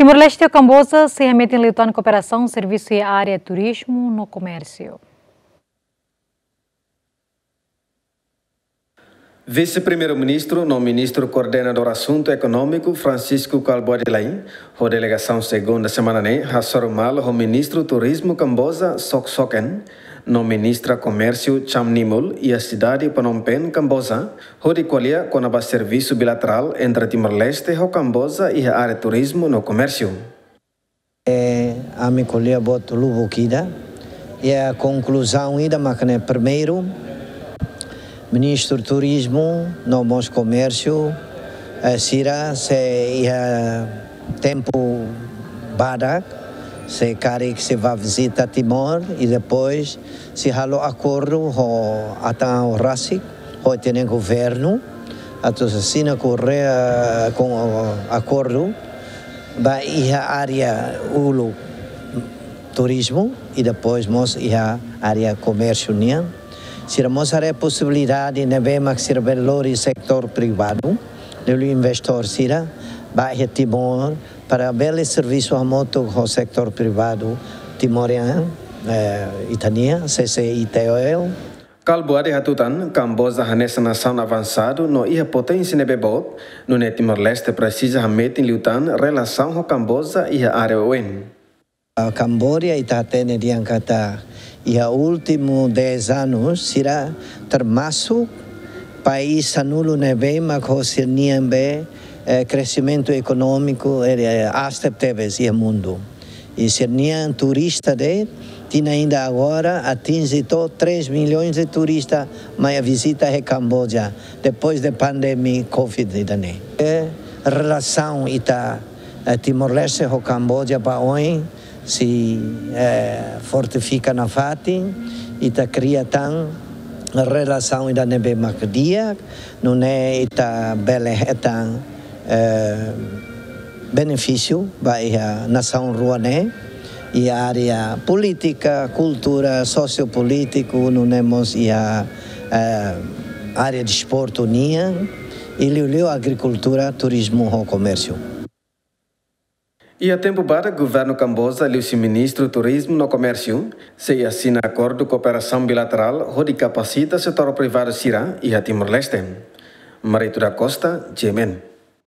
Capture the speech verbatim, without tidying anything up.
Timor-Leste ho Kamboja sei hametin liután kooperasaun servisu iha área turizmu no komérsiu. Vise-Primeiru-Ministru no Ministru Koordenadór Asuntu Ekonómiku Francisco Kalbuadi Lay, ho delegasaun segunda semana ne'e hasoru malu ho Ministru Turizmu Kamboja Sok Soken, no Ministra Komérsiu Cham Nimul iha sidade Phnom Penh, Kamboja, hodi ko'alia kona-ba servisu bilaterál entre Timor-Leste ho Kamboja iha área turizmu no komérsiu. Eh, ami ko'alia buat lubuk ida. Iha konkluzaun ida mak ne'e, primeiru, Ministru Turizmu no mós Komérsiu, eh, sira sei iha tempu badak, sei karik sei bá vizita Timor i depois sei halo akordu ho atan rasik, ho ita-nia governu, atu asina korre, eh, ho akordu ba iha área uluk turizmu i depois mós iha área komérsiu nian. Sira mós haree posibilidade ne'ebé mak sira bele lori setór privadu, liuliu investór sira, ba iha Timor, para bele servisu hamutuk ho setór privadu timorian, eh, ita-nia, C C I T O L. Kalbuadi hatutan, Kamboja hanesan nasaun avansadu no iha poténsia ne'ebé boot, nune'e Timor-Leste presiza hametin liután relasaun ho Kamboja iha área oioin. Kamboja, ita hatene dehan katak iha últimu dez anos, sira termasuk país sanulu ne'ebé mak ho sira-nian be, eh, kresimentu ekonómiku, eh, aas tebetebes iha mundu. I sira-nian turista de'it, tinan ida agora atinje to'o três milhões de turista mai vizita iha Kamboja, depois de pandemia covid ida-ne'e. Eh, relasaun ita, eh, Timor-Leste ho Kamboja ba oin sei, eh, fortifika nafatin, ita kria tan relasaun ida ne'ebé mak di'ak, nune'e ita bele hetan, eh, benefísiu ba iha nasaun rua ne'e, iha área polítika, kultura, sosiopolítiku, nune'e mós iha, eh, área desportu nian, i liuliu agrikultura, turizmu ho komérsiu. Iha tempu badak, Governu Kamboja liuhusi Ministru Turizmu no Komérsiu sei asina akordu kooperasaun bilaterál hodi kapasita setór privadu sira iha Timor-Leste. Marito da Costa, G M N.